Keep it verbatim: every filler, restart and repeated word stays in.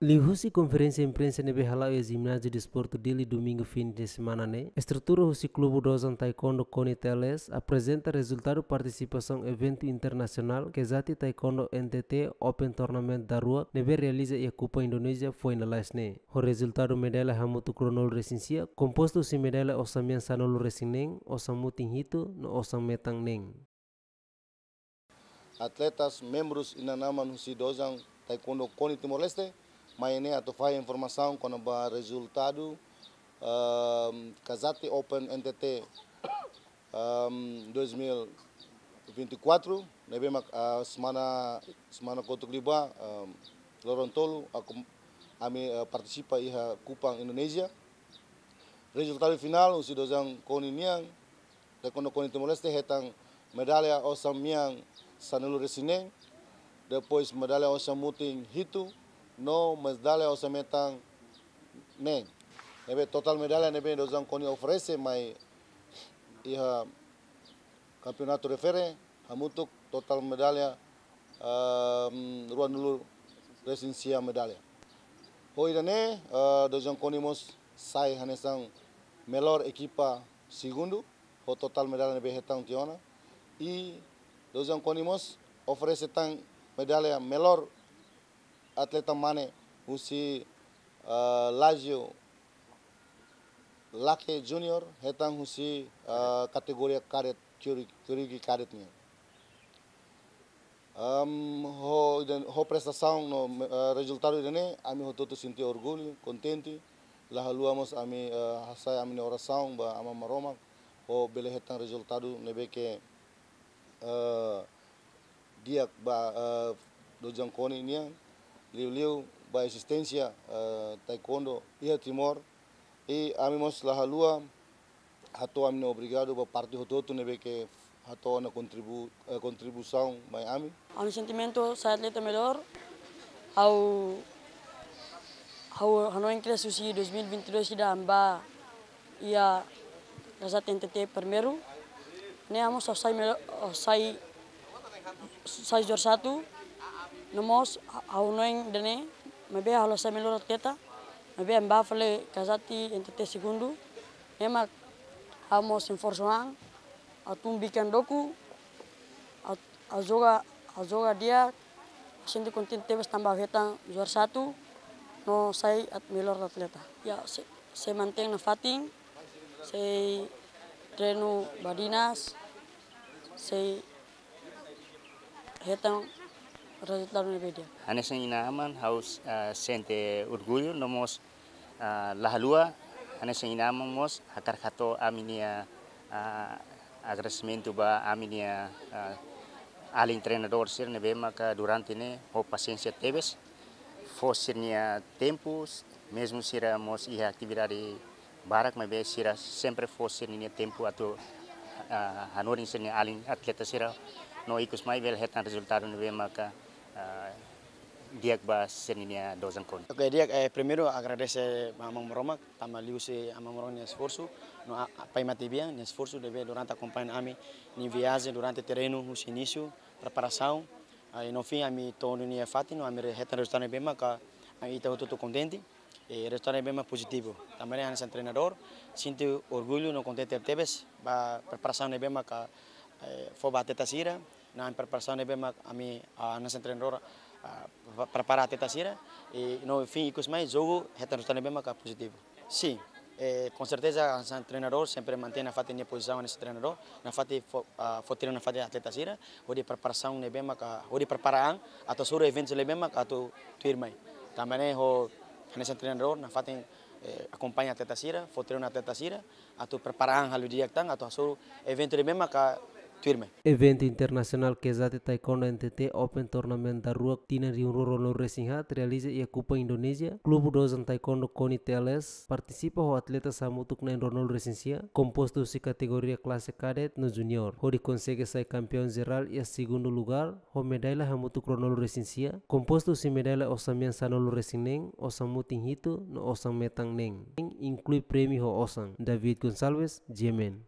Liuhusi konferénsia imprensa ne'ebé hala'o iha Jináziu Desportu Dili, Domingu fin de semana ne'e, estrutura husi Klube Dozan Taekwondo KONI T L S aprezenta rezultadu partisipasaun eventu internasionál Kazati Taekwondo N T T Open Tournament daruak ne'ebé realiza iha Kupang, Indonézia, foin lalais ne'e. Ho rezultadu medalla hamutuk ruanulu-resin-sia, kompostu husi medalla osan-mean sanulu-resin-neen, osan-mutin hitu, no osan-metan neen. Atletas, membrus inan-aman husi Dozan Taekwondo KONI Timor-Leste, mai ne'e atu fahe informasaun kona-ba rezultadu, ehm, Kazati Open N T T, ehm, dois mil e vinte e quatro, ne'ebé mak, ah, semana, semana kotuk liubá, ehm, loron tolu, aku, ami, eh, partisipa iha Kupang, Indonézia. Rezultadu finál, husi Dozan KONI nian, Taekwondo KONI Timor-Leste hetan medalla osan-mean sanulu-resin-neen, depois medalla osan-mutin hitu, no medalla osan-metan neen. Ne'ebé totál medalla ne'ebé Dozan KONI oferese mai iha kampeonatu refere, hamutuk totál medalla, ehm, ruanulu-resin-sia medalla. Ho ida-ne'e, eh, Dozan KONI mós sai hanesan melhor ekipa segundu, ho totál medalla ne'ebé hetan tiha ona. I Dozan KONI mós oferese tan medalla melhor atleta mane husi, ah, Lazio Lake Junior, hetan husi, ah, kategoria kadet, Kyuri-, Kyurugi kadet nian. Am, ho ida-, ho prestasaun no, eh, rezultadu ida-ne'e, ami hotu-hotu sente orgullu, kontente. La haluha mós ami, eh, hasai ami-nia orasaun ba Aman Maromak, ho bele hetan rezultadu ne'ebé ke, eh, di'ak ba, eh, Dozan KONI nian, liuliu ba ezisténsia, eh, taekwondo iha Timor. I ami mós la haluha hato'o ami-nia obrigadu ba parte hotu-hotu ne'ebé ke hato'o ona kontribu-, eh, kontribuisaun mai ami. Ha'u-nia sentimentu sai atleta melhor, ha'u, ha'u hanoin kedas husi dois mil e vinte e dois ida ami bá iha Kazati N T T primeiru. Ne'e ami mós sai melo-, sai, sai juara satu. No mós ha'u hanoin ida-ne'e, maibé ha'u la sai melhor atleta. Maibé ami bá fali Kazati N T T segundu. Ne'e mak ha'u mós esforsu an, atu bikan doku, atu, atu joga, atu joga di'ak, sente kontente tebes tanba hetan juara satu, no sai at-, melhor atleta. Ya, sei, sei mantein nafatin, sei treinu badinas, sei hetan rezultadu ne'ebé di'ak. Hanesan inan-aman ha'u, eh, sente orgullu, no mós, eh, la haluha, hanesan inan-aman mós hakarak hato'o ami-nia, eh, agradesimentu ba ami-nia, eh, alin treinadór sira ne'ebé maka durante ne'e ho pasiénsia tebes, fó sira-nia tempu, mezmu sira mós iha atividade barak, maibé sira sempre fó sira-nia tempu atu, ah, hanorin sira-nia alin atleta sira, no ikus mai bele hetan rezultadu ne'ebé maka, ah, di'ak ba sira-nia Dozan KONI. Oke, di'ak, eh, primeiru agradese ba Aman Maromak, tanba liuhusi Aman Maromak nia esforsu, no a, a, Pai Matebian nia esforsu ne'ebé durante akompaña ami-nia viajen durante terrenu husi inísiu, preparasaun, ah, i no fin ami to'o iha fatin, no ami re-, hetan rezultadu ne'ebé maka, ah, ita hotu-hotu kontente. E rezultadu ne'ebé mak pozitivu. Tanba ne'e hanesan treinadór, sente orgullu no kontente tebes ba preparasaun ne'ebé maka, eh, fó ba atleta sira, no preparasaun ne'ebé mak ami, ah, hanesan treinadór, ah, pre-, prepara atleta sira, i no fin ikus mai jogu hetan rezultadu ne'ebé maka pozitivu. Sin, eh, konserteza hanesan treinadór sempre mantein nafatin nia pozisaun hanesan treinadór, nafatin fó, ah, fó treinu nafatin atleta sira, hodi preparasaun ne'ebé maka, hodi prepara an atu hasoru eventu ne'ebé maka atu tuirmai. Tanba ne'e ha'u hanesan treinadór nafatin, eh, akompaña atleta sira, fó treinu atleta sira, atu prepara an halo di'ak tan atu hasoru eventu ne'ebé maka tuirmai. Eventu internasionál Kazati Taekwondo N T T Open Tournament daruak tinan rihun rua ruanulu-resin-haat realiza iha Kupang, Indonézia. Klube Dozan Taekwondo KONI T L S partisipa ho atleta hamutuk na'in ruanulu-resin-sia, kompostu husi kategoria klase kadet no juniór, hodi konsege sai kampeaun jerál iha segundu lugár, ho medalla hamutuk ruanulu-resin-sia, kompostu husi medalla osan-mean sanulu-resin-neen, osan-mutin hitu, no osan-metan neen. Inklui prémiu ho osan. David Gonçalves, G M N.